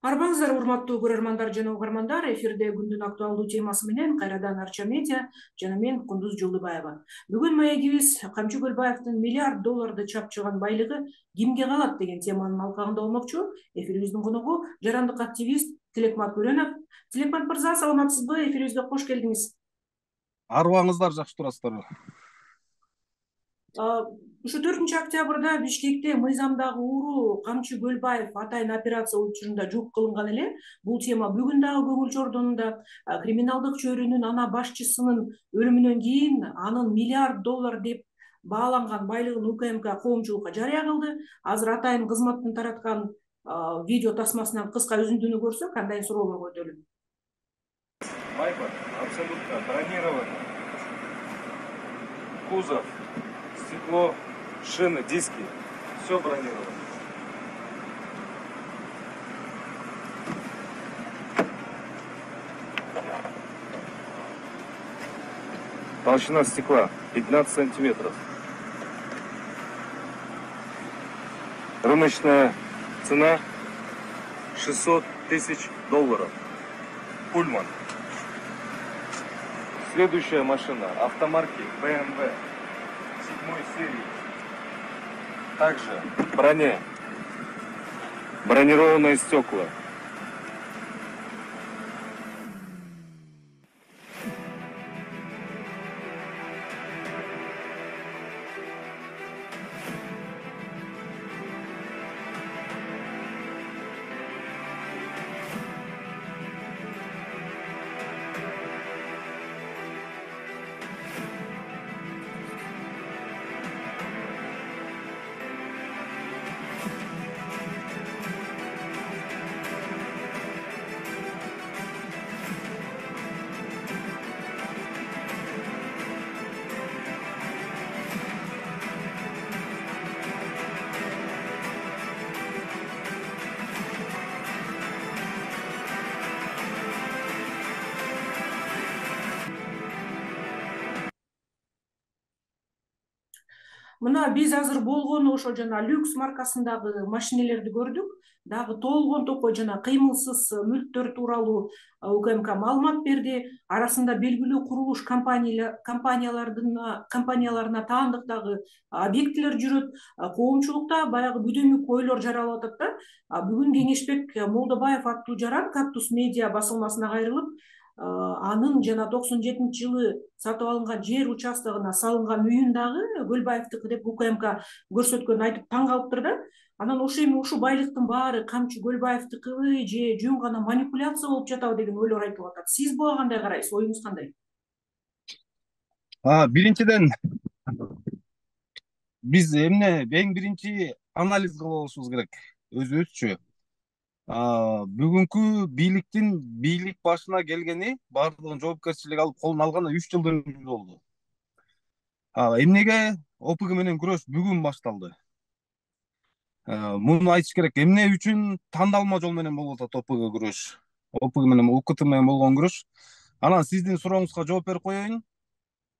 Арбаңыздар, урматтуу көрөрмандар жана угармандар, эфирде күндүн актуалдуу темасы менен кайрадан Арча медиа жана мен Кундуз Жолдубаева. Бүгүн маегибиз Камчы Көлбаевдин миллиард долларды чапчыган байлыгы кимге калат деген теманын алкагында болмокчу. Эфирибиздин коногу жарандык активист Тилекмат Бөрөнов. Тилекмат мырза, саламатсызбы? Эфирибизге кош келдиңиз. Арыбаңыздар, жакшы турасыздарбы? Ушу 4-октябрда Бишкекте мыйзамдагы ууру Камчы Көлбаев атайын операция учурунда жок кылынган эле. Бул тема бүгүн дагы көңүл чордонунда. Криминалдык чөйрөнүн ана башчысынын өлүмүнөн кийин анын миллиард доллар деп бааланган байлыгын УКМК коомчулукка жарыя кылды. Азыр атайын кызматтын тараткан видео тасмасынан кыска үзүндүнү көрсөк, андан суроолорго өтөлү. Вайпер абсолютно бронирован. Кузов, стекло, шины, диски. Все бронировано. Толщина стекла 15 сантиметров. Рыночная цена 600 тысяч долларов. Пульман. Следующая машина автомарки BMW 7 серии. Также броня. Бронированные стекла. Мына биз азыр болгону ошо жана люкс маркасындагы машинелерди көрдүк. Дагы толгон токой жана кыймылсыз мүлктөр тууралуу УКМК маалымат берди. Арасында белгилүү курулуш компанияларына таандык дагы объектилер жүрөт. Коомчулукта баягы бүдөмүк ойлор жаралып атат да. Бүгүн Кеңешбек Молдобаев аттуу жаран Кактус медиа басылмасына кайрылып, анын жана 97-жылы сатып алынган жер участогуна салынган үйүн дагы Көлбаевдики деп УКМК көрсөткөнүн айтып таң калыптыр да. Анан ушул байлыктын баары Камчы Көлбаевдикиби же жөн гана манипуляция болуп жатабы деген ойлор айтылып атат. Сиз буга кандай карайсыз? Оюңуз кандай? Биринчиден, биз эң биринчи анализ кылып алышыбыз керек өзүбүзчү. Бүгүнкү бийлик башына келгени, баардыгын жоопкерчилик алып колуна алганы 3 жылдын жүзү болду. Эмнеге ОПГ менен күрөш бүгүн башталды? Муну айтыш керек. Эмне үчүн тандалма жол менен болуп атат ОПГ күрөш? ОПГ менен УКТ менен болгон күрөш. Анан сиздин сурооңузга жооп берип коеюн.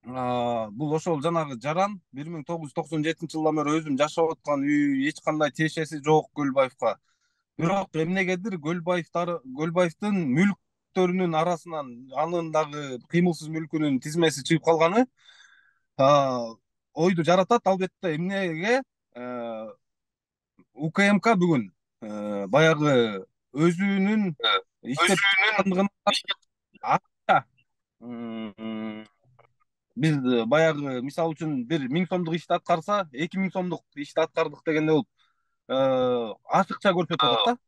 Бул ошол жанагы жаран 1997-жылдан бери өзүм жашап аткан үй, эч кандай тиешеси жок Көлбаевка. Бирок эмнегедир Көлбаевдин мүлктөрүнүн арасынан анын дагы кыймылсыз мүлкүнүн тизмеси чыгып калганы ойду жаратат. Албетте эмнеге УКМК бүгүн баягы өзүнүн иштеп биз баягы мисалы үчүн 1000 сомдук ишти аткарса 2000 сомдук ишти аткардык дегенде болуп ачыкча көрсөтүп атат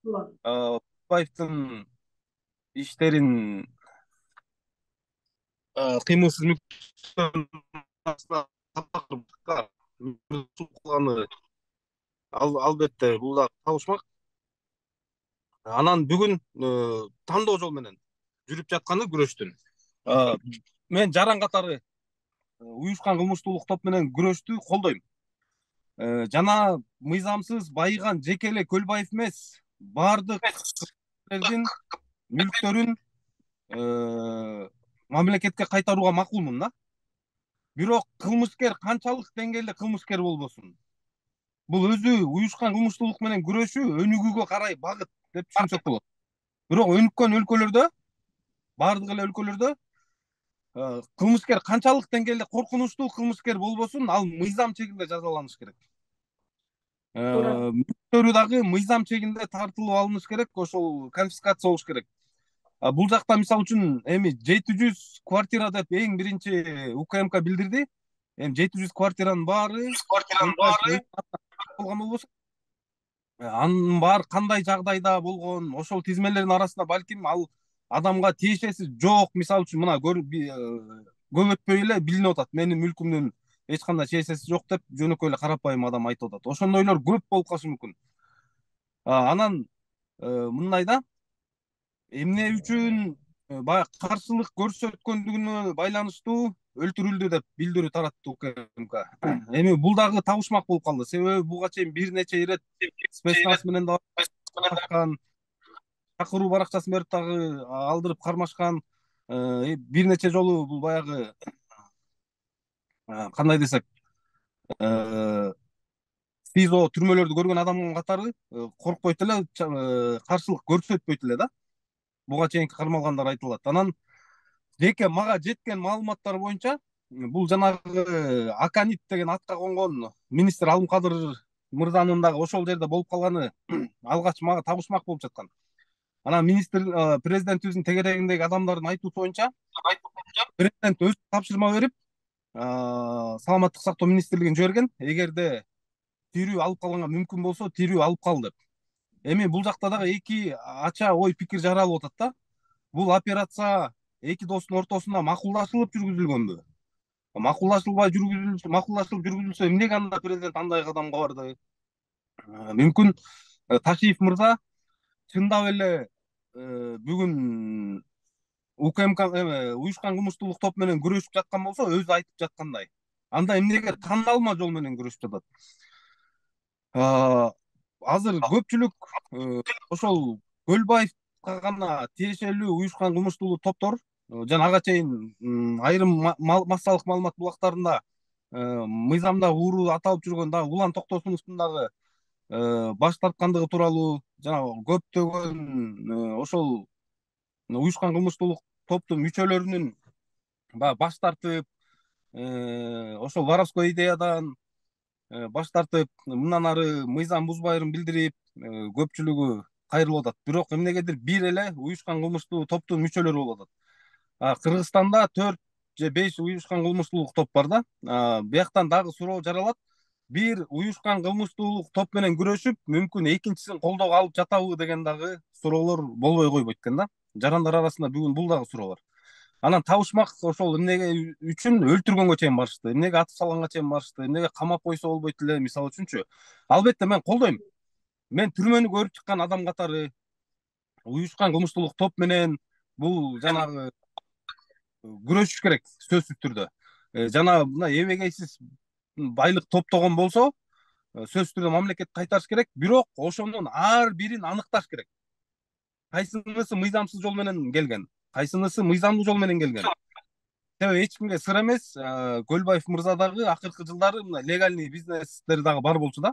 да. Көлбаевдин иштерин кыймылсыз мүлктөрүн албетте бул да табышмак. Анан бүгүн тандоо жол менен жүрүп жатканы күрөштүн. Мен жаран катары уюшкан кылмыштуулук топ менен күрөштү колдойм. Жана мыйзамсыз байыган жеке эле Көлбаев эмес, баардык мүлктөрүн мамлекетке кайтарууга макулмун да. Бирок кылмышкер канчалык деңгээлде кылмышкер болбосун, бул өзү уюшкан кылмыштуулук менен күрөшүү өнүгүүгө карай багыт деп түшүнсөк болот. Бирок өнүккөн өлкөлөрдө, баардык эле өлкөлөрдө кылмышкер канчалык деңгээлде коркунучтуу кылмышкер болбосун, ал мыйзам чегинде жазаланыш керек. туура. Мүлктөрү дагы мыйзам чегинде тартылып алыныш керек, ошол конфискация болуш керек. Бул жакта мисалы үчүн эми 700 квартира деп эң биринчи УКМК билдирди. Эми 700 квартиранын баары болгон болбосо, анын баары кандай жагдайда болгон, ошол тизмелердин арасында балким ал адамга тиешеси жок, мисалы үчүн мына көп өтпөй эле билинип атат, менин мүлкүмдүн эч кандай тиешеси жок деп жөнөкөй эле карапайым адам айтып атат. Ошондойлор көп болуп калышы мүмкүн. Анан мындай да, эмне үчүн баягы каршылык көрсөткөндүгүнө байланыштуу өлтүрүлдү деп билдирүү таратты УКМК. Эми бул дагы табышмак болуп калды, себеби буга чейин бир нече ирет спецназ менен да чакыруу баракчасын берип дагы алдырып кармашкан. Бир нече жолу бул баягы кандай десек, СИЗО түрмөлөрдү көргөн адамдын катары коркпойт эле, каршылык көрсөтпөйт эле да. Буга чейинки кармалгандар айтылат. Анан жеке мага жеткен маалыматтар боюнча бул жанагы Аканит деген атка конгон министр Алымкадыр мырзанын дагы ошол жерде болуп калганы алгач мага табышмак болуп жаткан. Анан президентибиздин тегерегиндеги адамдардын айтуусу боюнча президент өзү тапшырма берип саламаттык сактоо министрлигине жиберген, эгерде тирүү алып калганга мүмкүн болсо тирүү алып кал деп. Эми бул жакта дагы эки ача ой пикир жаралып атат да. Бул операция эки достун ортосунда макулдашылып жүргүзүлгөнбү? Макулдашылып жүргүзүлсө эмнеге анда президент андай кадамга барды? Мүмкүн Ташиев мырза чындап эле бүгүн УКМК уюшкан кылмыштуулук топ менен күрөшүп жаткан болсо, өзү айтып жаткандай, анда эмнеге тандалма жол менен күрөшүп жатат? Азыр көпчүлүк ошол Көлбаевка гана тиешелүү уюшкан кылмыштуулук топтор жана ага чейин айрым массалык маалымат булактарында мыйзамда ууру аталып жүргөн дагы Улан Токтосуновдун дагы баш тарткандыгы тууралуу, жана көптөгөн ошол уюшкан кылмыштуулук топтун мүчөлөрүнүн баягы баш тартып, ошол воровской идеядан баш тартып, мындан ары мыйзам бузбайрын билдирип, көпчүлүгү кайрылып атат. Бирок эмнегедир бир эле уюшкан кылмыштуу топтун мүчөлөрү болуп атат. Кыргызстанда 4 же 5 уюшкан кылмыштуулук топ бар да. Бияктан дагы суроо жаралат. Бир уюшкан кылмыштуулук топ менен күрөшүп, мүмкүн экинчисин колдоого алып жатабы деген дагы суроолор болбой койбойт экен да. Жарандар арасында бүгүн бул дагы суроо бар. Анан табышмак ошол эмнеге үчүн өлтүргөнгө чейин барышты, эмнеге атып салганга чейин барышты, эмнеге камап койсо болбойт эле, мисалы үчүнчү. Албетте мен колдойм. Мен түрмөнү көрүп чыккан адам катары уюшкан кылмыштуулук топ менен бул жанагы күрөшүш керек сөзсүз түрдө. Жана мына эбегейсиз байлык топтогон болсо, сөзсүз түрдө мамлекет кайтарыш керек, бирок ошонун ар бирин аныкташ керек. Кайсынысы мыйзамсыз жол менен келген, кайсынысы мыйзамдуу жол менен келген. Себеби эч кимге сыр эмес, Көлбаев мырза дагы акыркы жылдары мына легальный бизнестери дагы бар болчу да.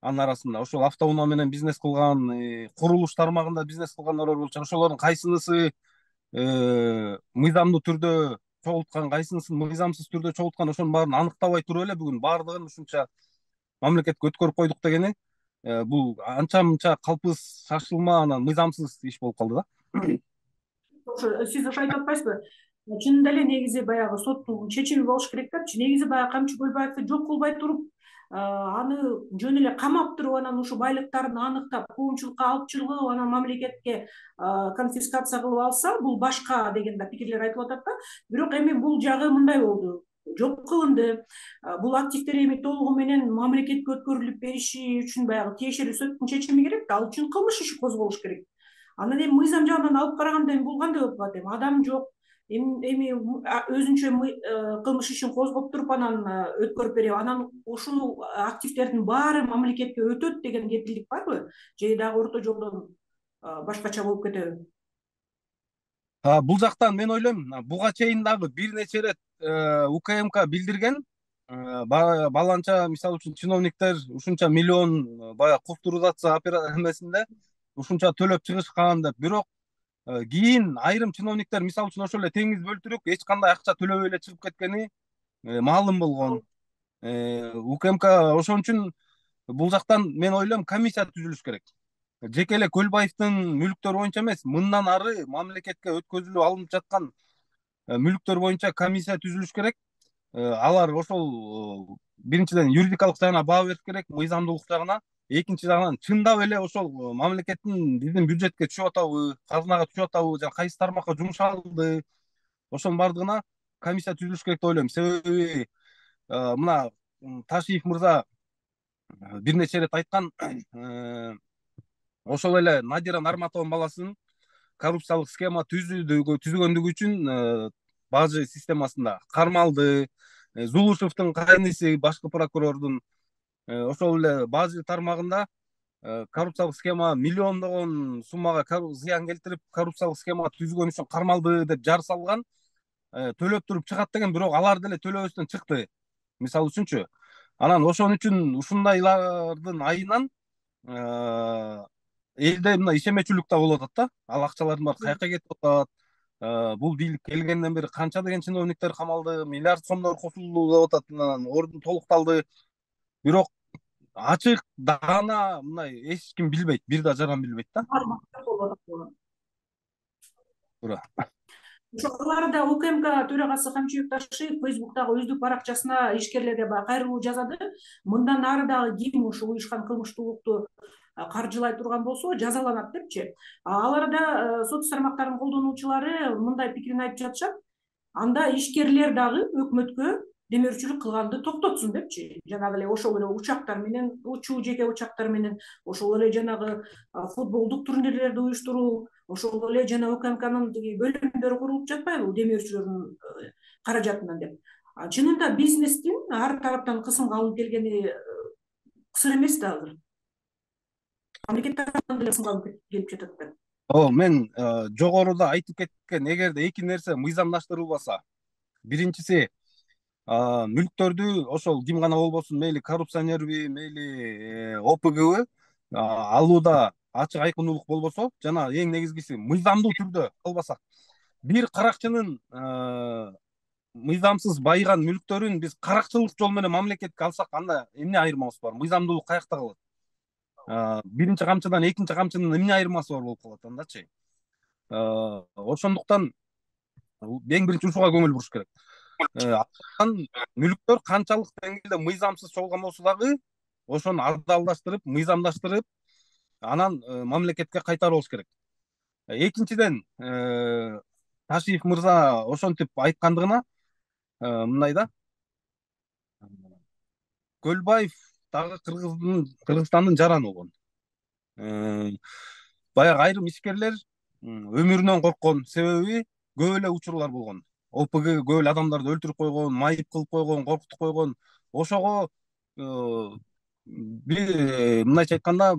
Анын арасында ошол автоунаа менен бизнес кылган, курулуш тармагында бизнес кылгандар бар болчу. Ошолордун кайсынысы мыйзамдуу түрдө чогулткан, кайсынысын мыйзамсыз түрдө чогулткан, ошонун баарын аныктабай туруп эле бүгүн баардыгын ушунча мамлекетке өткөрүп койдук дегени бул анча мынча калпыз шашылма, анан мыйзамсыз иш болуп калды да. Сиз ошо айтып атпайсызбы? Чынында эле негизи баягы соттун чечими болуш керек депчи. Негизи баягы Камчы Көлбаевди жок кылбай туруп, аны жөн эле камап туруп, анан ушу байлыктарын аныктап, коомчулукка алып чыгып, анан мамлекетке конфискация кылып алса, бул башка деген да пикирлер айтылып атат да. Бирок эми бул жагы мындай болду. Жок кылынды. Бул активдер эми толугу менен мамлекетке өткөрүлүп бериши үчүн баягы тиешелүү соттун чечими керек да. Ал үчүн кылмыш иши козголуш керек. Анан эми мыйзам жагынан алып караганда эми бул кандай болуп калат? Эми адам жок. Эми өзүнчө кылмыш ишин козгоп туруп анан өткөрүп берип, анан ушул активдердин баары мамлекетке өтөт деген кепилдик барбы? Же дагы орто жолдон башкача болуп кетеби? Бул жактан мен ойлойм, буга чейин дагы бир нече ирет УКМК билдирген, баланча мисалы үчүн чиновниктер ушунча миллион баягы культуризация эмесинде ушунча төлөп чыгышкан деп. Бирок кийин айрым чиновниктер мисалы үчүн ошол эле теңиз бөлтүрүк эч кандай акча төлөбөй эле чыгып кеткени маалым болгон. УКМК ошон үчүн бул жактан мен ойлойм комиссия түзүлүш керек. Жеке эле Көлбаевдин мүлктөрү боюнча эмес, мындан ары мамлекетке өткөзүлүп алынып жаткан мүлктөр боюнча комиссия түзүлүш керек. Алар ошол биринчиден юридикалык жагына баа бериш керек, мыйзамдуулук жагына. Экинчи жагынан чындап эле ошол мамлекеттин биздин бюджетке түшүп атабы, казынага түшүп атабы, жана кайсы тармакка жумшалды, ошонун баардыгына комиссия түзүлүш керек деп ойлойм. Себеби мына Ташиев мырза бир нече ирет айткан, ошол эле Надира Нарматованын баласын коррупциялык схема түзгөндүгү үчүн бажы системасында кармалды. Зулушевдин кайниси башкы прокурордун ошол эле бажы тармагында коррупциялык схема миллиондогон суммага зыян келтирип, коррупциялык схема түзгөн үчүн кармалды деп жар салган. Төлөп туруп чыгат деген, бирок алар деле төлөбөстөн чыкты, мисалы үчүнчү. Анан ошон үчүн ушундайлардын айынан элде мына ишенмечүлүк да болуп атат да. Ал акчалардын баары каяка кетип атат? Бул бийлик келгенден бери канча деген чиновниктер камалды, миллиард сомдор кошулду деп атат. Анан ордун толукталды. Бирок ачык даана мындай эч ким билбейт, бир да жаран билбейт да. Туура. Ошолар да УКМК төрагасы Камчыбек Ташиев Фейсбуктагы өздүк баракчасына ишкерлерге кайрылуу жазады. Мындан ары дагы ким ушул уюшкан кылмыштуулукту каржылай турган болсо жазаланат депчи. Аларда сот тармактарынын колдонуучулары мындай пикирин айтып жатышат. Анда ишкерлер дагы өкмөткө демөөрчүлүк кылганды токтотсун депчи. Жанагы эле ошол эле учактар менен, жеке учактар менен, ошол эле жанагы футболдук турнирлерди уюштуруу, ошол эле жана УКМКнын бөлүмдөрү курулуп жатпайбы демөөрчүлөрдүн каражатынан деп. Чынында бизнестин ар тараптан кысымга алынып келгени сыр эмес да азыр. Мамлекет тарабынан деле кысымга алынып келип жатат да. Мен жогоруда айтып кеткен, эгерде эки нерсе мыйзамдаштырылбаса, биринчиси мүлктөрдү ошол ким гана болбосун, мейли коррупционерби, мейли ОПГбы алууда ачык айкындуулук болбосо, жана эң негизгиси мыйзамдуу түрдө албасак, бир каракчынын мыйзамсыз байыган мүлктөрүн биз каракчылык жол менен мамлекетке алсак, анда эмне айырмабыз бар? Мыйзамдуулук каякта калат? Биринчи камчыдан экинчи камчынын эмне айырмасы бар болуп калат андачы? Ошондуктан эң биринчи ушуга көңүл буруш керек. Мүлктөр канчалык деңгээлде мыйзамсыз чогулган болсо дагы ошону адалдаштырып, мыйзамдаштырып, анан мамлекетке кайтарыбыз керек. Экинчиден, Ташиев мырза ошентип айткандыгына мындай да, Көлбаев дагы Кыргызстандын жараны болгон. Баягы айрым ишкерлер өмүрүнөн корккон, себеби көп эле учурлар болгон. ОПГ көп эле адамдарды өлтүрүп койгон, майып кылып койгон, коркутуп койгон. Ошого мындайча айтканда,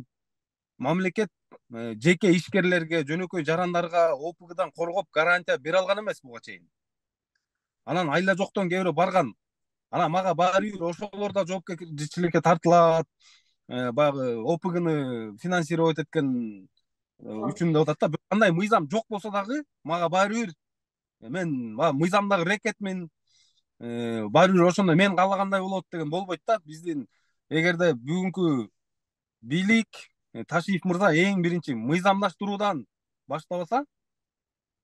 мамлекет жеке ишкерлерге, жөнөкөй жарандарга ОПГдан коргоп гарантия бере алган эмес буга чейин. Анан айла жоктон кээ бирөө барган. Анан мага баары бир ошолор да жоопкерчиликке тартылат. Баягы ОПГны финансировать эткен үчүн деп атат да. Кандай мыйзам жок болсо дагы мага баары бир, мен мыйзамдагы рекетмин, баары бир ошондой мен каалагандай болот деген болбойт да. Биздин эгерде бүгүнкү бийлик, Ташиев мырза эң биринчи мыйзамдаштыруудан баштабаса,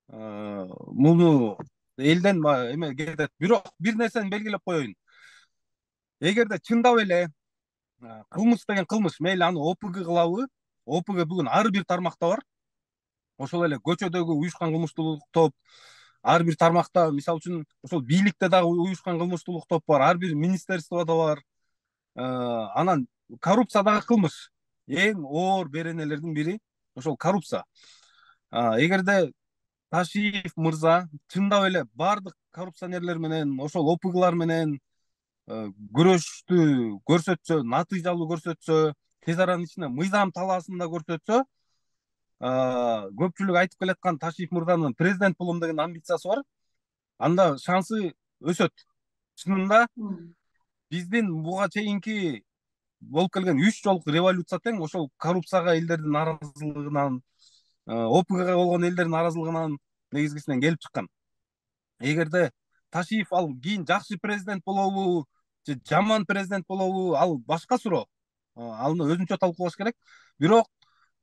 муну элден эме кетет. Бирок бир нерсени белгилеп коеюн. Эгерде чындап эле кылмыш деген кылмыш, мейли аны ОПГ кылабы, ОПГ бүгүн ар бир тармакта бар. Ошол эле көчөдөгү уюшкан кылмыштуулук топ, ар бир тармакта, мисалы үчүн ошол бийликте дагы уюшкан кылмыштуулук топ бар, ар бир министерстводо бар. Анан коррупция дагы кылмыш. Эң оор беренелердин бири ошол коррупция. Эгерде Ташиев мырза чындап эле бардык коррупционерлер менен, ошол ОПГлар менен күрөштү көрсөтсө, натыйжалуу көрсөтсө, тез аранын ичинде мыйзам талаасында көрсөтсө, көпчүлүк айтып келаткан Ташиев мырзанын президент болом деген амбициясы бар. Анда шансы өсөт. Чынында биздин буга чейинки болуп келген 3 жолку революция тең ошол коррупцияга элдердин нааразылыгынан, ОПГга болгон элдердин нааразылыгынан негизгисинен келип чыккан. Эгерде Ташиев ал кийин жакшы президент болобу же жаман президент болобу, ал башка суроо. Аны өзүнчө талкуулаш керек. Бирок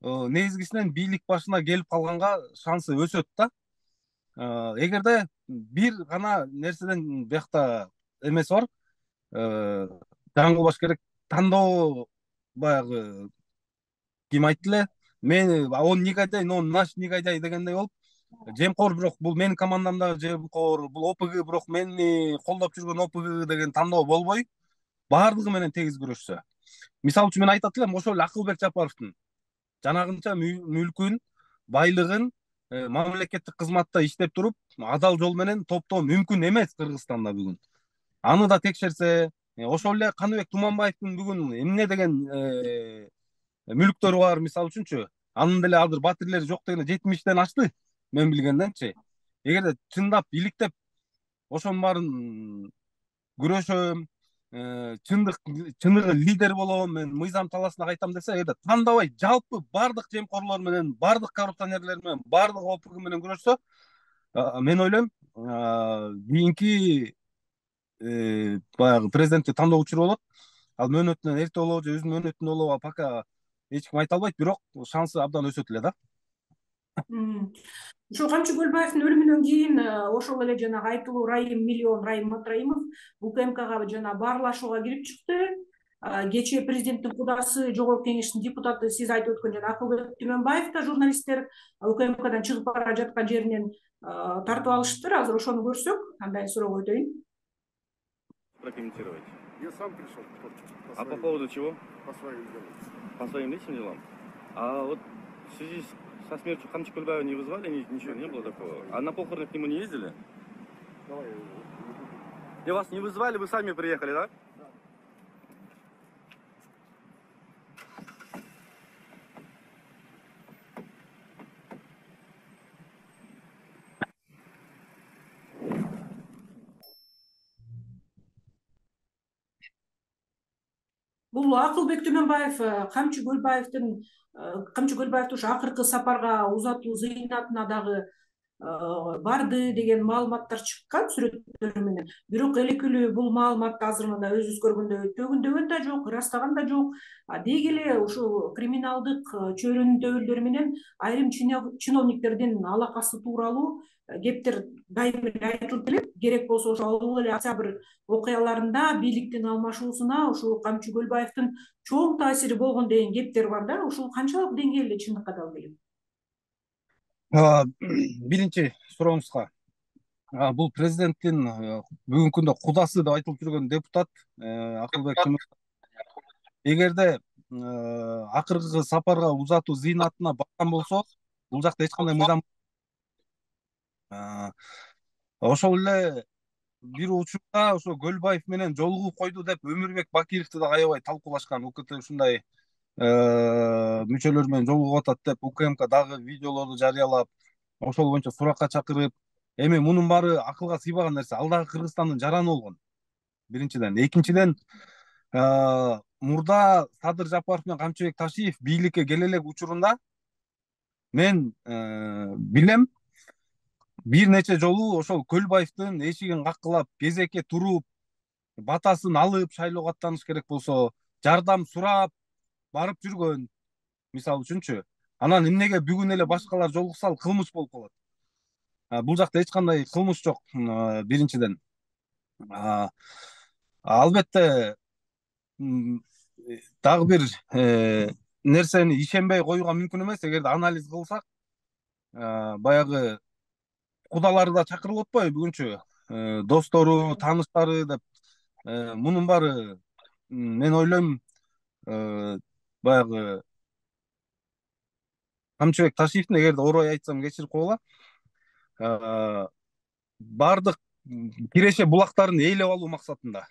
негизгисинен бийлик башына келип калганга шансы өсөт да. Эгерде бир гана нерседен биякта эмеси бар, жаңы кылбаш керек. Тандоо баягы ким айтты эле, мен он негодяй, но наш негодяй дегендей болуп, жемкор бирок бул менин командамдагы жемкор, бул ОПГ бирок мени колдоп жүргөн ОПГ деген тандоо болбой, баардыгы менен тегиз күрөшсө. Мисалы үчүн мен айтат элем, ошол эле Акылбек Жапаровдун жанагынча мүлкүн, байлыгын мамлекеттик кызматта иштеп туруп, адал жол менен топтоо мүмкүн эмес Кыргызстанда бүгүн. Аны да текшерсе, ошол эле Каныбек Туманбаевдин бүгүн эмне деген мүлктөрү бар, мисалы үчүнчү. Анын деле азыр батирлери жок дегенде 70тен ашты, мен билгенденчи. Эгерде чындап иликтеп ошонун баарын күрөшөм, чыныгы лидер болом, мен мыйзам талаасына кайтам десе, эгерде тандабай жалпы баардык жемкорлор менен, баардык коррупционерлер менен, баардык ОПГ менен күрөшсө, мен ойлойм кийинки баягы президенттик тандоо учуру болот. Ал мөөнөтүнөн эрте болобу же өзүнүн мөөнөтүндө болобу пока эч ким айта албайт, бирок шансы абдан өсөт эле да. Ошо Камчы Көлбаевдин өлүмүнөн кийин ошол эле жанагы айтылуу Раим Матраимов УКМКга жана баарлашууга кирип чыкты. Кечээ президенттин кудасы, жогорку кеңештин депутаты, сиз айтып өткөн жана Акылбек Түмөнбаев да журналисттер УКМКдан чыгып бара жаткан жеринен тартып алыштыр. Азыр ошону көрсөк, андан суроо өтөйүн. Прокомментировать. Я сам пришел. А по поводу чего? По своим делам. По своим личным делам? А вот в связи со смертью Камчы Кульбаева не вызвали, ничего не было такого? А на похороны к нему не ездили? Давай. И вас не вызвали, вы сами приехали, да? Бул Акылбек Түмөнбаев Камчы Көлбаевдин ушу акыркы сапарга узатуу зыйнатына дагы барды деген маалыматтар чыккан сүрөттөр менен. Бирок элекилүү бул маалыматты азыр мына өзүбүз көргөндөй төгүндөгөн да жок, ырастаган да жок. Деги эле ушул криминалдык чөйрөнүн төбөлдөрү менен айрым чиновниктердин алакасы тууралуу кептер дайыма эле айтылып келет. Керек болсо ошол эле октябрь окуяларында бийликтин алмашуусуна ушул Камчы Көлбаевдин чоң таасири болгон деген кептер бар да. Ушул канчалык деңгээлде чындыкка далил келет? Биринчи сурооңузга, бул президенттин бүгүнкү күндө кудасы деп айтылып жүргөн депутат Акылбек Түмөнбаев, эгерде акыркы сапарга узатуу зыйнатына барган болсо, бул жакта эч кандай мыйзам. Ошол эле бир учурда ошо Көлбаев менен жолугуп койду деп Өмүрбек Бакировду да аябай талкуулашкан. УКТ ушундай мүчөлөр менен жолугуп атат деп УКМК дагы видеолорду жарыялап, ошол боюнча суракка чакырып, эми мунун баары акылга сыйбаган нерсе. Ал дагы Кыргызстандын жараны болгон. Биринчиден, экинчиден, мурда Садыр Жапаров менен Камчыбек Ташиев бийликке келе элек учурунда мен билем, бир нече жолу ошол Көлбаевдин эшигин каккылап, кезекке туруп, батасын алып, шайлоого аттаныш керек болсо, жардам сурап барып жүргөн, мисалы үчүнчү. Анан эмнеге бүгүн эле башкалар жолукса ал кылмыш болуп калат? Бул жакта эч кандай кылмыш жок, биринчиден. Албетте дагы бир нерсени ишенбей коюуга мүмкүн эмес. Эгерде анализ кылсак, баягы кудалары да чакырылып атпайбы бүгүнчү, достору, тааныштары деп. Мунун баары мен ойлойм, баягы Камчыбек Ташиевдин, эгерде орой айтсам кечирип койгула, баардык киреше булактарын ээлеп алуу максатында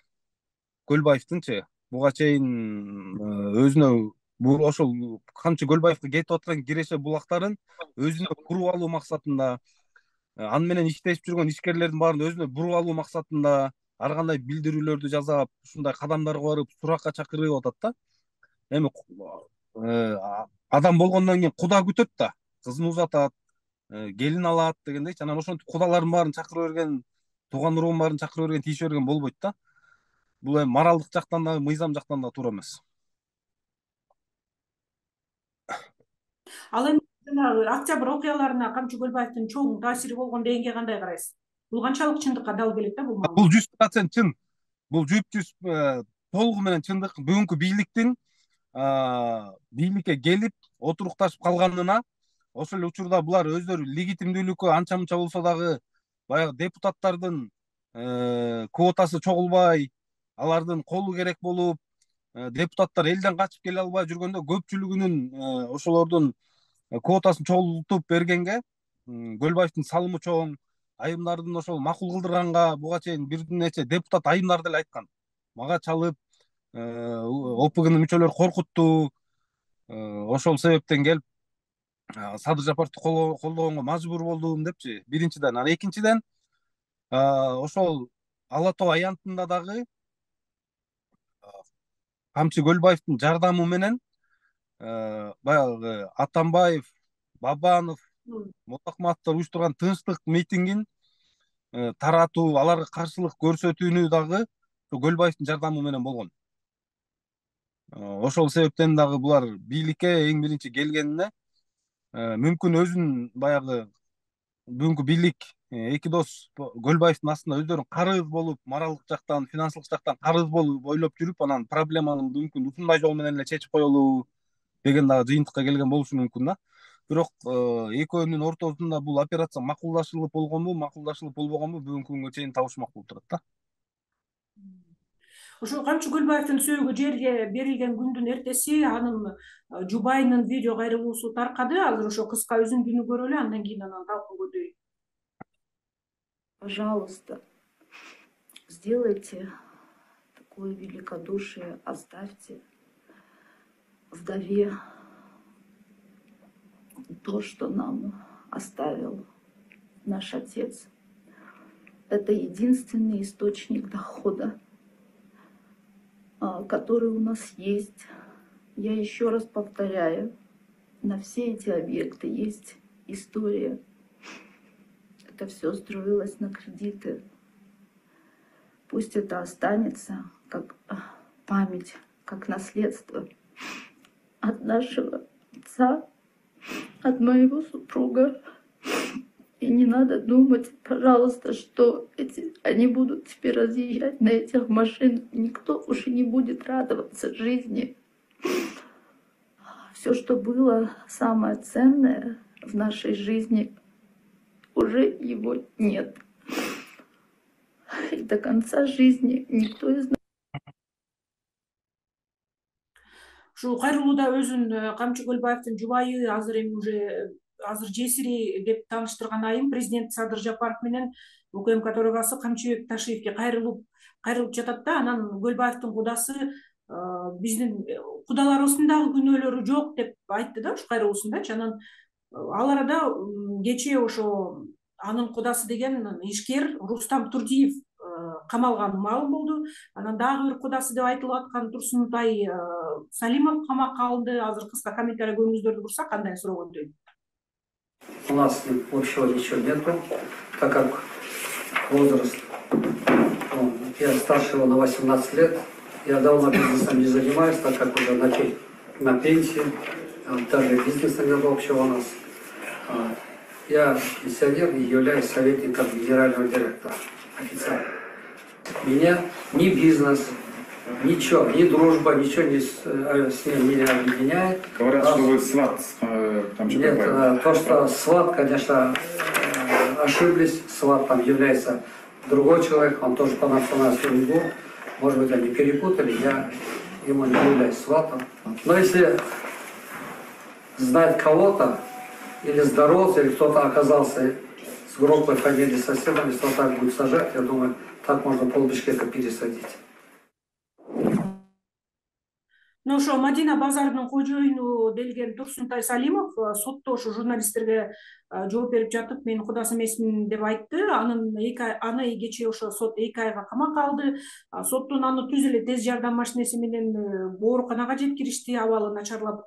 Көлбаевдинчи буга чейин өзүнө ошол Камчы Көлбаевге кетип аткан киреше булактарын өзүнө буруп алуу максатында, аны менен иштешип жүргөн ишкерлердин баарын өзүнө буруп алуу максатында, ар кандай билдирүүлөрдү жасап, ушундай кадамдарга барып суракка чакырып атат да. Эми адам болгондон кийин куда күтөт да, кызын узатат, келин алат дегендейчи. Анан ошентип кудалардын баарын чакыра берген, тууган уругун баарын чакыра берген, тийише берген болбойт да. Бул эми моралдык жактан дагы, мыйзам жактан да туура эмес. Ал эми жанагы октябрь окуяларына Камчы Көлбаевдин чоң таасири болгон дегенге кандай карайсыз? Бул канчалык чындыкка дал келет да бул маалымат? Бул 100% чын. Бул 100% толугу менен чындык. Бүгүнкү бийликтин бийликке келип отурукташып калганына, ошол эле учурда булар өздөрү легитимдүүлүккө анча мынча болсо дагы баягы депутаттардын квотасы чогулбай, алардын колу керек болуп, депутаттар элден качып келе албай жүргөндө көпчүлүгүнүн ошолордун квотасын чогултуп бергенге Көлбаевдин салымы чоң. Айымдардын ошол макул кылдырганга буга чейин бир нече депутат айымдар деле айткан. Мага чалып, ОПГнын мүчөлөрү коркутту. Ошол себептен келип Садыр Жапаровду колдогонго мажбур болдум депчи. Биринчиден, анан экинчиден ошол Ала Тоо аянтында дагы Камчы Көлбаевдин жардамы менен баягы Атамбаев, Бабанов, Молдокматовдор уюштурган тынчтык митингин таратуу, аларга каршылык көрсөтүүнү дагы Көлбаевдин жардамы менен болгон. Ошол себептен дагы булар бийликке эң биринчи келгенине мүмкүн өзүн баягы бүгүнкү бийлик эки дос Көлбаевдин астында өздөрүн карыз болуп, моралдык жактан, финансылык жактан карыз болуп ойлоп жүрүп, анан проблеманы мүмкүн ушундай жол менен эле чечип коелу деген дагы жыйынтыкка келген болушу мүмкүн да. Бирок экөөнүн ортосунда бул операция макулдашылып болгонбу, макулдашылып болбогонбу бүгүнкү күнгө чейин табышмак болуп турат да. Ошо Камчы Көлбаевдин сөөгү жерге берилген күндүн эртеси анын жубайынын видео кайрылуусу таркады. Азыр ошо кыска үзүндүнү көрөлү, андан кийин анан талкуу көтөрөйт. Пожалуйста, сделайте такое великодушие, оставьте вдове то, что нам оставил наш отец. Это единственный источник дохода, который у нас есть. Я еще раз повторяю, на все эти объекты есть история. Это все строилось на кредиты. Пусть это останется как память, как наследство от нашего отца, от моего супруга. И не надо думать, пожалуйста, что они будут теперь разъезжать на этих машинах. Никто уже не будет радоваться жизни. Все, что было самое ценное в нашей жизни, уже его нет. И до конца жизни никто из нас... Ушу кайрылууда өзүн Камчы Көлбаевдин жубайы, азыр жесири деп тааныштырган айым президент Садыр Жапаров менен УКМК төрагасы Камчыбек Ташиевке кайрылып жатат да. Анан Көлбаевдин кудасы биздин кудаларыбыздын дагы күнөөлөрү жок деп айтты да ушу кайрылуусундачы. Анан ал арада кечээ ошо анын кудасы деген ишкер Рустам Турдиев камалганы маалым болду. Анан дагы бир кудасы деп айтылып аткан Турсунтай Салимов камакка алынды. Азыр кыска комментарий көңүңүздөрдү бурсак, кандай суроо? У нас общего ничего нету, так как возраст, я старше его на 18 лет, я давно бизнесом не занимаюсь, так как уже на пенсии, даже бизнеса нет общего у нас. Я пенсионер и являюсь советником генерального директора официально. Меня ни бизнес, ничего, ни дружба, ничего с ним не объединяет. Говорят, что вы сват Камчы Көлбаева. Нет, то, что сват, конечно, ошиблись. Сват там является другой человек, он тоже по национальности уйгур. Может быть, они перепутали, я ему не являюсь сватом. Но если знать кого-то, или здороваться, или кто-то оказался с группой фамилии соседом, если он так будет сажать, я думаю, так можно полбишкека пересадить. мына ошо Мадина базарынын кожоюну делген Турсунтай Салимов сотто ошо журналисттерге жооп берип жатып, мен кудас эмесмин деп айтты. Аны кечээ ошо сот 2 айга камакка алды. Соттун аны түз эле тез жардам машинеси менен ооруканага жеткиришти, абалы начарлап.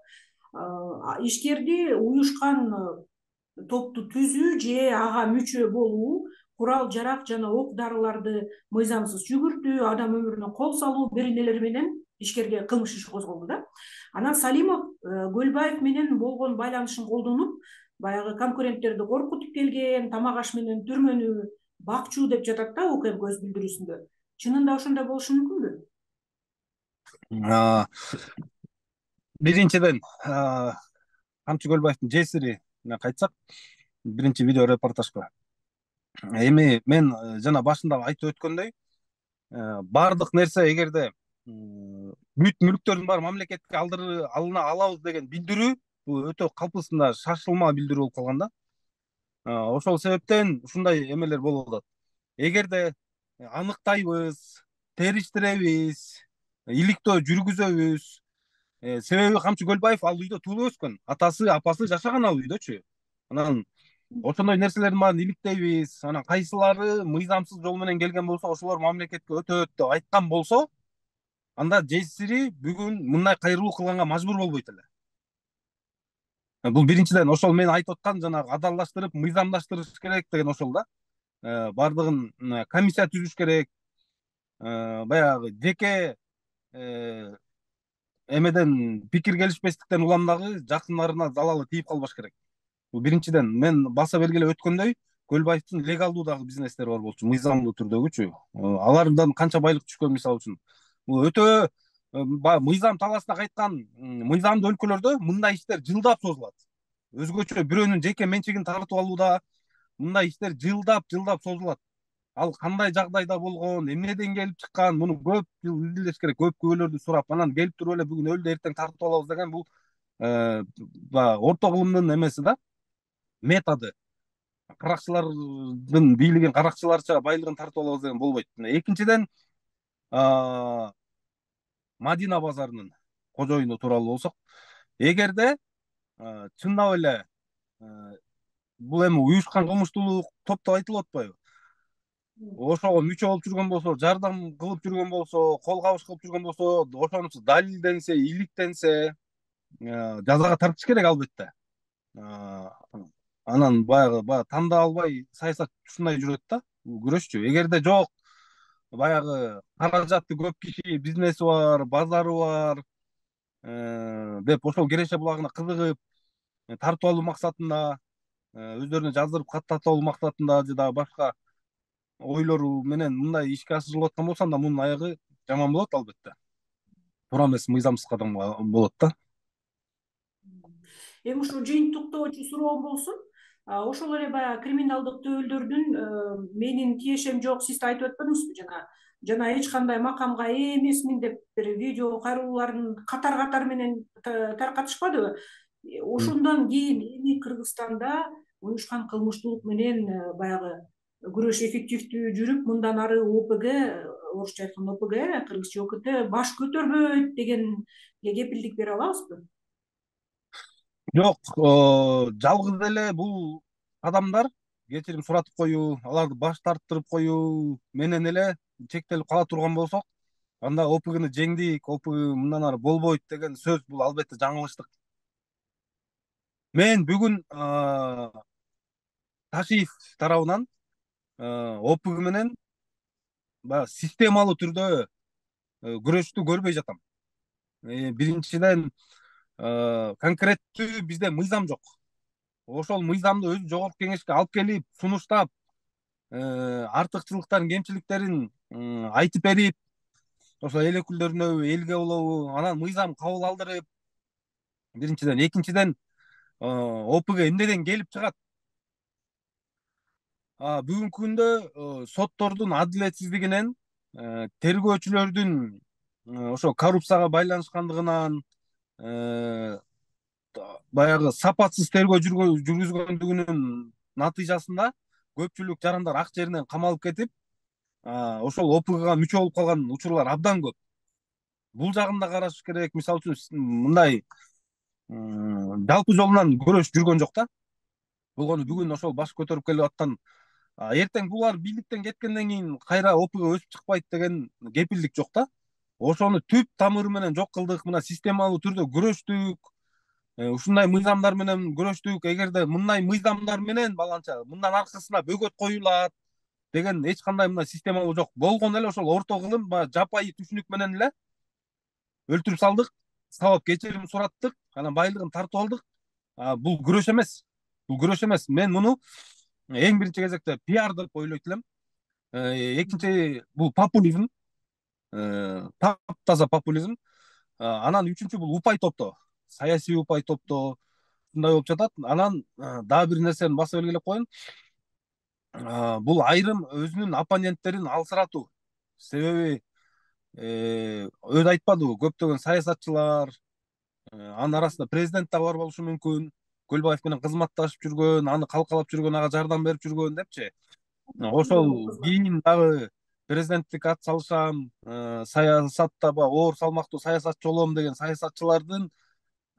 Ишкерди уюшкан топту түзүү же ага мүчө болуу, курал жарак жана ок дарыларды мыйзамсыз жүгүртүү, адам өмүрүнө кол салуу беренелери менен ишкерге кылмыш иши козголду да. Анан Салимов Көлбаев менен болгон байланышын колдонуп, баягы конкуренттерди коркутуп келген, тамак аш менен түрмөнү бакчу деп жатат да УКМ көз билдирүүсүндө. Чынында ошондой болушу мүмкүнбү? Биринчиден, Камчы Көлбаевдин жесирине кайтсак, биринчи видео репортажга. Эми мен жана башында айтып өткөндөй, бардык нерсе эгерде бүт мүлктөрдүн баары мамлекетке алабыз деген билдирүү, бул өтө калпысында шашылма билдирүү болуп калган да. Ошол себептен ушундай эмелер болуп атат. Эгерде аныктайбыз, териштиребиз, иликтөө жүргүзөбүз. Себеби Камчы Көлбаев ал үйдө туулуп өскөн, атасы, апасы жашаган ал үйдөчү. Анан ошондой нерселердин баарын иликтейбиз. Анан кайсылары мыйзамсыз жол менен келген болсо, ошолор мамлекетке өтөт деп айткан болсо, анда жесири бүгүн мындай кайрылуу кылганга мажбур болбойт эле. Бул биринчиден, ошол мен айтып аткан жанагы адалдаштырып, мыйзамдаштырыш керек деген ошол да. Бардыгын комиссия түзүш керек. Баягы жеке эмеден пикир келишпестиктен улам дагы жакындарына залалы тийип калбаш керек. Бул биринчиден. Мен баса белгилеп өткөндөй, Көлбаевдин легалдуу дагы бизнестери бар болчу, мыйзамдуу түрдөгүчү. Алардан канча байлык түшкөн мисалы үчүн. Бул өтө мыйзам талаасына кайткан мыйзамдуу өлкөлөрдө мындай иштер жылдап созулат. Өзгөчө бирөөнүн жеке менчигин тартып алууда мындай иштер жылдап созулат. Ал кандай жагдайда болгон, эмнеден келип чыккан, муну көп жыл изилдеш керек, көп күбөлөрдү сурап, анан келип туруп эле бүгүн өлдү, эртең тартып алабыз деген бул орто кылымдын эмеси да, методу. Каракчылардын бийлигин каракчыларча байлыгын тартып алабыз деген болбойт. Экинчиден, Мадина базарынын кожоюну тууралуу болсок, эгерде чындап эле бул эми уюшкан кылмыштуулук топ деп айтылып атпайбы? Ошого мүчө болуп жүргөн болсо, жардам кылып жүргөн болсо, кол кабыш кылып жүргөн болсо, ошонусу далилденсе, иликтенсе, жазага тартыш керек албетте. Анан баягы тандап албай саясат ушундай жүрөт да, күрөшчү. Эгерде жок, баягы каражаты көп киши, бизнеси бар, базары бар деп ошол Кереше булагына кызыгып, тартып алуу максатында, өздөрүнө жаздырып каттатып алуу максатында же дагы башка ойлору менен мындай ишке ашырылып аткан болсо, анда мунун аягы жаман болот албетте. Туура эмес, мыйзамсыз кадам болот да. Эми ушул жыйынтыктоочу суроом болсун. Ошол эле баягы криминалдык төбөлдөрдүн менин тиешем жок, сиз айтып өтпөдүңүзбү жана эч кандай макамга ээ эмесмин деп бир видео кайрылууларын катар менен таркатышпадыбы? Ошондон кийин эми Кыргызстанда уюшкан кылмыштуулук менен баягы күрөш эффективдүү жүрүп, мындан ары ОПГ, орусча айтканда ОПГ, кыргызча ОКТ баш көтөрбөйт дегенге кепилдик бере алабызбы? Жок, жалгыз эле бул адамдар кечирим суратып коюу, аларды баш тарттырып коюу менен эле чектелип кала турган болсок, анда ОПГны жеңдик, ОПГ мындан ары болбойт деген сөз бул албетте жаңылыштык. Мен бүгүн Ташиев тарабынан ОПГ менен баягы системалуу түрдө күрөштү көрбөй жатам. Биринчиден, конкреттүү бизде мыйзам жок. Ошол мыйзамды өзү жогорку кеңешке алып келип, сунуштап, артыкчылыктарын, кемчиликтерин айтып берип, ошо эл өкүлдөрүнө, элге болобу, анан мыйзам кабыл алдырып, биринчиден. Экинчиден, ОПГ эмнеден келип чыгат? Бүгүнкү күндө соттордун адилетсиздигинен, тергөөчүлөрдүн ошо коррупцияга байланышкандыгынан, баягы сапатсыз тергөө жүргүзгөндүгүнүн натыйжасында көпчүлүк жарандар ак жеринен камалып кетип, ошол ОПГга мүчө болуп калган учурлар абдан көп. бул жагын да караш керек. Мисалы үчүн мындай жалпы жолунан күрөш жүргөн жок да. Болгону бүгүн ошол баш көтөрүп келип аткан эртең булар бийликтен кеткенден кийин кайра ОПГ өсүп чыкпайт деген кепилдик жок да. Ошону түп тамыры менен жок кылдык, мына системалуу түрдө күрөштүк. Ушундай мыйзамдар менен күрөштүк. Эгерде мындай мыйзамдар менен баланча мындан аркысына бөгөт коюлат деген эч кандай мына системалуу жок. Болгон эле ошол орто кылым жапайы түшүнүк менен эле өлтүрүп салдык, сабап кечирим сураттык, анан байлыгын тартып алдык. Бул күрөш эмес. Бул күрөш эмес. Мен муну эң биринчи кезекте пиар деп ойлойт элем. Экинчи бул популизм, таптаза популизм. Анан үчүнчү бул упай топтоо, саясий упай топтоо ушундай болуп жатат. Анан дагы бир нерсени басып белгилеп коеюн. Бул айрым өзүнүн оппоненттерин алсыратуу. Себеби өзү айтпадыбы, көптөгөн саясатчылар, анын арасында президент да бар болушу мүмкүн, Көлбаев менен кызматташып жүргөн, аны калкалап жүргөн, ага жардам берип жүргөн депчи. Ошол кийин дагы президенттикке ат салышам, саясатта оор салмактуу саясатчы болом деген саясатчылардын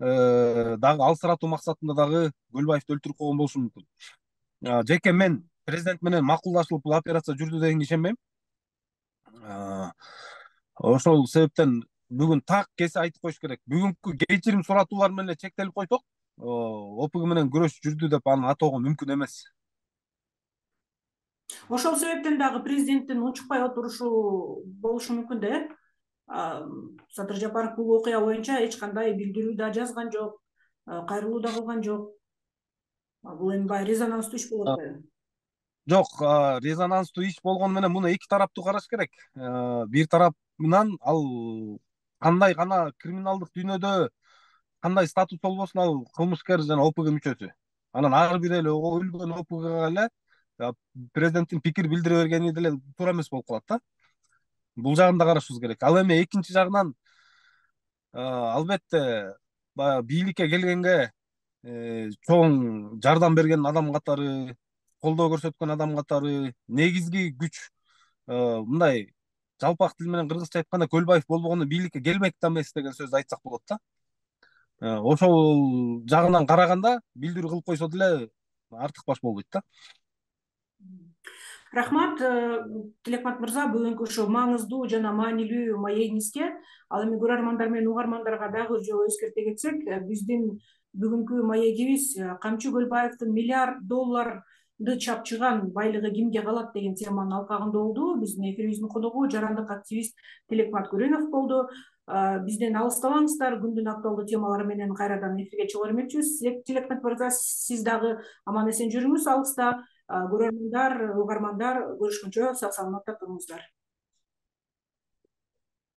дагы алсыратуу максатында дагы Көлбаевди өлтүрүп койгон болушу мүмкүн. Жеке мен президент менен макулдашылып бул операция жүрдү дегенге ишенбейм. Ошол себептен бүгүн так кесе айтып коюш керек. Бүгүнкү кечирим суратуулар менен чектелип койсок, ОПГ менен күрөш жүрдү деп аны атоого мүмкүн эмес. Ошол себептен дагы президенттин унчукпай отурушу болушу мүмкүн да. Садыр Жапаров бул окуя боюнча эч кандай билдирүү да жазган жок, кайрылуу да кылган жок. Бул эми баягы резонанстуу иш болот атпайбы? Жок, резонанстуу иш болгону менен муну эки тараптуу караш керек. Бир тарабынан ал кандай гана криминалдык дүйнөдө кандай статус болбосун, ал кылмышкер жана ОПГ мүчөсү. Анан ар бир эле өлгөн ОПГга эле президенттин пикир билдире бергени деле туура эмес болуп калат да. Бул жагын да карашыбыз керек. Ал эми экинчи жагынан албетте баягы бийликке келгенге чоң жардам берген адам катары, колдоо көрсөткөн адам катары, негизги күч мындай жалпак тил менен кыргызча айтканда Көлбаев болбогондо бийликке келмек да эмес деген сөздү айтсак болот да. Ошол жагынан караганда билдирүү кылып койсо деле артык баш болбойт да. Рахмат, Тилекмат мырза, бүгүнкү ушул маңыздуу жана маанилүү маегиңизге. Ал эми көрөрмандар менен угармандарга дагы бир жолу эскерте кетсек, биздин бүгүнкү маегибиз Камчы Көлбаевдин миллиард долларды чапчыган байлыгы кимге калат деген теманын алкагында болду. Биздин эфирибиздин коногу жарандык активист Тилекмат Көрөнов болду. Бизден алыстабаңыздар, күндүн актуалдуу темалары менен кайрадан эфирге чыга бермекчибиз. Тилекмат мырза, сиз дагы аман эсен жүрүңүз алыста. Көрөрмандар, угармандар, көрүшкөнчө сак саламатта туруңуздар.